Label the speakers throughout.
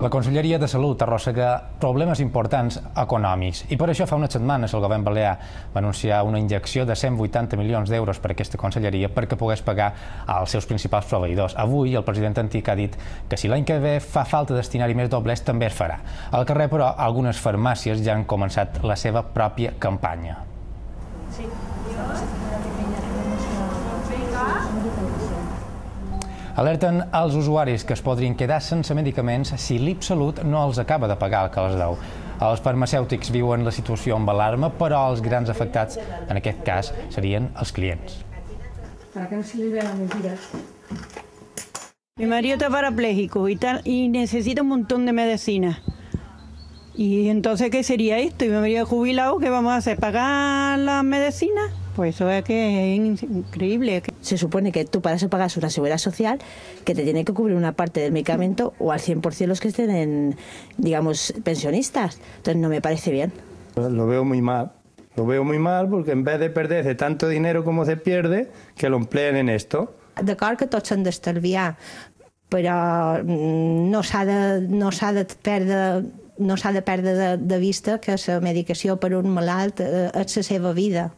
Speaker 1: La Conselleria de Salut arrossega problemes importants econòmics i per això fa unes setmanes el govern balear va anunciar una injecció de 180 milions d'euros per a aquesta conselleria perquè pogués pagar als seus principals proveïdors. Avui el president Antic ha dit que si l'any que ve fa falta destinar-hi més doblers també es farà. Al carrer, però, algunes farmàcies ja han començat la seva pròpia campanya. Alerten als usuaris que es podrien quedar sense medicaments si l'Ipsalut no els acaba de pagar el que els deu. Els farmacèutics viuen la situació amb alarma, però els grans afectats, en aquest cas, serien els clients.
Speaker 2: Para que no se les vean mentiras.
Speaker 3: Mi marido está parapléjico y necesita un montón de medicina. Y entonces, ¿qué sería esto? Y mi marido jubilado, ¿qué vamos a hacer? ¿Pagar las medicinas? Pues eso es que es increíble.
Speaker 4: Se supone que tú para eso pagas una seguridad social que te tiene que cubrir una parte del medicamento o al 100% los que estén, digamos, pensionistas. Entonces no me parece bien.
Speaker 5: Lo veo muy mal. Lo veo muy mal porque en vez de perderse tanto dinero como se pierde, que lo empleen en esto.
Speaker 4: D'acord que tots s'han d'estalviar, però no s'ha de perdre de vista que la medicació per un malalt és la seva vida.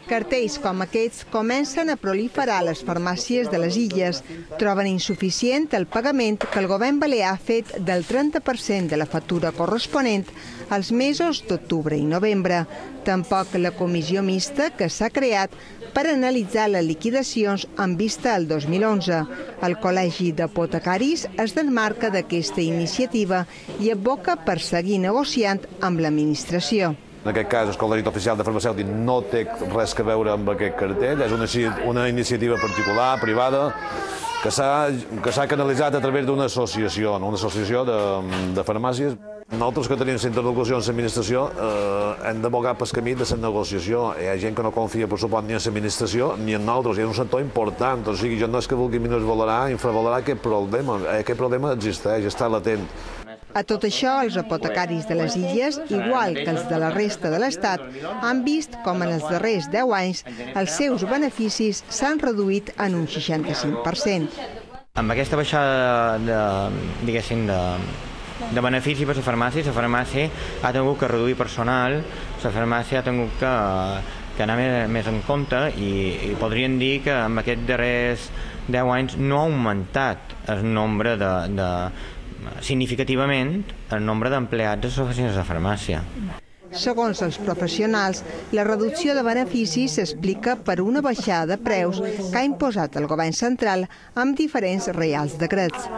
Speaker 6: Cartells com aquests comencen a proliferar a les farmàcies de les illes. Troben insuficient el pagament que el govern balear ha fet del 30% de la factura corresponent als mesos d'octubre i novembre. Tampoc la comissió mixta que s'ha creat per analitzar les liquidacions en vista al 2011. El Col·legi d'Apotecaris es desmarca d'aquesta iniciativa i advoca per seguir negociant amb l'administració.
Speaker 7: En aquest cas, el Col·legi Oficial de Farmacèutic no té res a veure amb aquest cartell, és una iniciativa particular, privada, que s'ha canalitzat a través d'una associació de farmàcies. Nosaltres que tenim la interlocució amb l'administració hem d'abogar pel camí de la negociació. Hi ha gent que no confia, per supost, ni en l'administració ni en nosaltres. És un sector important, o sigui, jo no és que vulgui minusvalorar, infravalorar aquest problema. Aquest problema existeix, està latent.
Speaker 6: A tot això, els apotecaris de les illes, igual que els de la resta de l'Estat, han vist com en els darrers 10 anys els seus beneficis s'han reduït en un 65%.
Speaker 8: Amb aquesta baixada de benefici per a la farmàcia ha tingut que reduir personal, la farmàcia ha tingut que anar més en compte i podríem dir que en aquests darrers 10 anys no ha augmentat el nombre significativament el nombre d'empleats a les oficines de farmàcia.
Speaker 6: Segons els professionals, la reducció de beneficis s'explica per una baixada de preus que ha imposat el govern central amb diferents reials decrets.